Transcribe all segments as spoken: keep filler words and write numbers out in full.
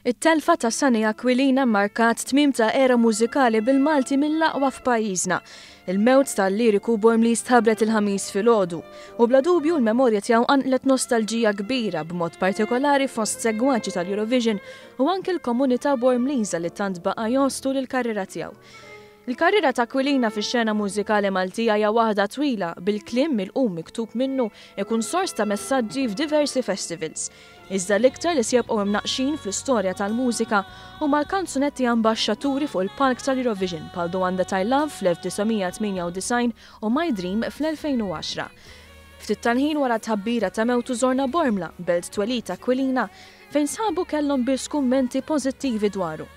It-telfa ta' Sunny Aquilina markat tmiem ta' era mużikali bil-Malti mill-aqwa f'pajjiżna. Il-mewt tal-liriku Bormliż tħabbret il-Ħamis filgħodu u bla dubju l-memorja tiegħu qanqlet nostalġija kbira, b'mod partikolari fost segwaċi tal-Eurovision u anke l-komunità Bormliża li tant baqa' jostu l-karriera tiegħu. Il-karriera ta' Aquilina fix-xena mużikali Maltija hija waħda twila, bil-kliem mill-qum miktub minnu ikun sors ta' messaġġi f'diversi festivals. Iżda l-iktar li se jibqgħu imnaqxin fl-istorja tal-mużika huma l-kanzunetti ambaxxaturi fuq il-palk tal-Eurovision bħal The One That I Love fl-elf disa' mija tmienja u disgħin u My Dream fl-elfejn u għaxra. Ftit tal-ħin wara tħabbira ta' mewtu żorna Bormla, belt twelid Aquilina, fejn sħabu kellhom biss kummenti pożittivi dwaru.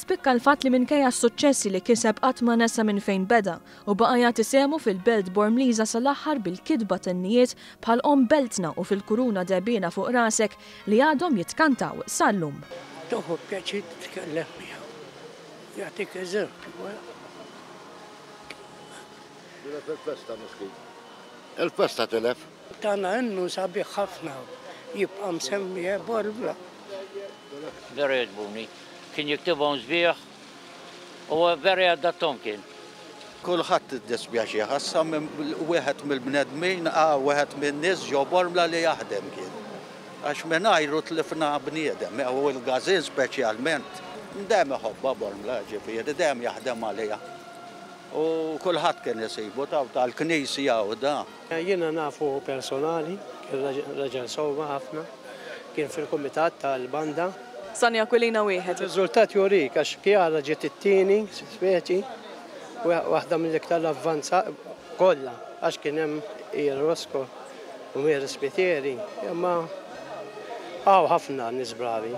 Spikka l-fatt li minkejja s-suċċessi li kiseb, qatt ma nesa minn fejn beda u baqa' jagħti sehmu fil-belt Bormliża sal-aħħar bil-kitba t'innijiet bħal Omm Beltna u Fil-Kuruna Dehbiena Fuq Rasek li għadhom jitkantaw sal-lum. Tieħu pjaċir titkellem miegħu. Jagħtik eżempju, eh? Tilef il-festa, miskin. Il-festa tilef. Tana innu sabiħ ħafna, jibqa' msemmi Bormla. Vera jogħġbuni. Kien jiktibhom sbieħ u vera jadattom kien. Kulħadd iddispjaċi ħassa minn wieħed mill-bnedmin, ah, wieħed minn nies ġo Bormla li jaħdem kien. Għax mingħajru tlifna bniedem, u l-gazin speċjalment. Dejjem iħobbha Bormla, ġifieri, dejjem jaħdem għalija. U kulħadd kien isibu taw tal-knisja u da. Jiena nafu personali, kien raġel sewwa ħafna, kien fil-kumitat tal-banda. Sunny Aquilina wieħed. Riżultat jurik, għax Kjara ġiet it-tieni, speċi, waħda mill-iktar avvanza kollha, għax kien hemm Ian Roscoe u Mary Spiteri, imma hawn ħafna nies bravi.